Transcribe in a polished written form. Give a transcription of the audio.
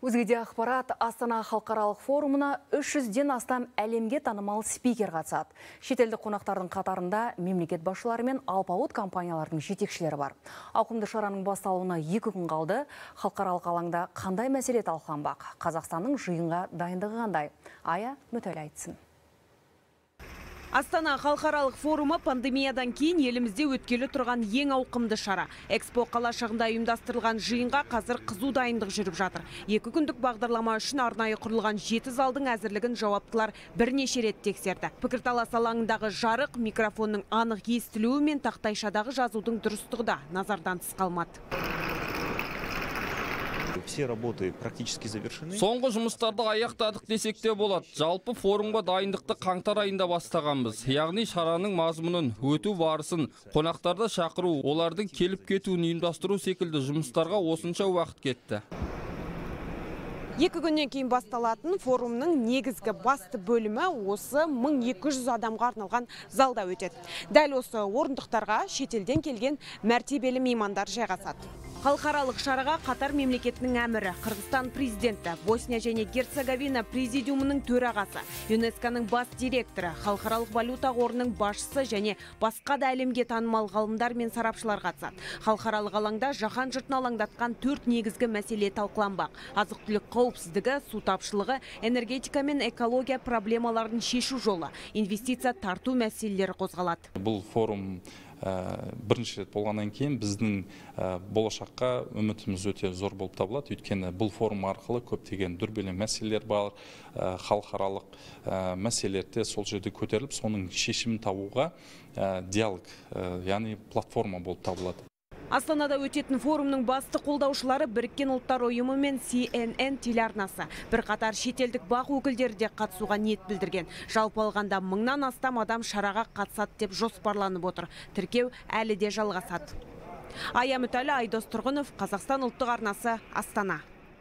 Өзгеде ақпарат, Астана халықаралық форумына 300-ден астам әлемге танымал спикер қатысады. Шетелдік қонақтардың қатарында мемлекет басшылары мен алпауыт компаниялардың жетекшілері бар. Ауқымды шараның басталуына 2 күн қалды. Халықаралық алаңда қандай мәселе талқыланбақ? Қазақстанның жиынға дайындығы қандай? Ая Мүтәл айтсын. Астана халықаралық форумы пандемиядан кейін елімізде өткелі тұрған ең ауқымды шара. Экспо қалашығында ұйымдастырылған жиынға қазір қызу дайындық жүріп жатыр. 2 күндік бағдарлама үшін арнайы құрылған 7 залдың әзірлігін жауаптылар бірнеше рет тексерді. Пікірталас алаңындағы жарық, микрофонның анық естілуі мен тақтайшадағы жазудың дұрыстығы да назардан тыс қалмады. Все работы практически завершены. Соңғы жұмыстарды аяқтадық десек те болады. Жалпы форумға дайындықты қаңтар айында бастағанбыз. Яғни шараның мазмұнын, өту барысын, қонақтарды шақыру, олардың келіп кетуін ұйымдастыру секілді жұмыстарға осынша уақыт кетті. 2 күннен кейін басталатын форумның негізгі басты бөлімі осы 1200 адамға арналған залда өтеді. Дәл осы орындықтарға шетелден келген мәртебелі меймандар жайғасады. Халықаралық шараға Қатар мемлекетінің әмірі, Қырғызстан президенті, Босния және Герцеговина президиумының төрағасы, ЮНЕСКО-ның бас директоры, Халықаралық валюта қорының басшысы және басқа да әлемге танымал ғалымдар мен сарапшылар қатысады. Халықаралық алаңда жаһан жұртын алаңдатқан 4 негізгі мәселе талқыланбақ. Азық-түлік қауіпсіздігі, су тапшылығы, энергетика мен экология проблемаларын шешу жолы, инвестиция тарту мәселелері қозғалады. Бұл форум бірінші рет болғаннан кейін біздің болашаққа үмітіміз өте зор болып табылады. Өйткені бұл форум арқылы көптеген дүрбелең мәселелер бар, халықаралық мәселелерде сол жерде көтеріліп, соның шешімін табуға диалог, яғни платформа болып табылады. Астанада өтетін форумның басты қолдаушылары Біріккен ұлттар ұйымы мен CNN телеарнасы. Бірқатар шетелдік бақ өкілдері де қатысуға ниет білдірген. Жалпы алғанда 1000-нан астам адам шараға қатысады деп жоспарланып отыр. Тіркеу әлі де жалғасады. Ая Мүтәлі, Айдос Тұрғынов, Қазақстан ұлттық арнасы, Астана.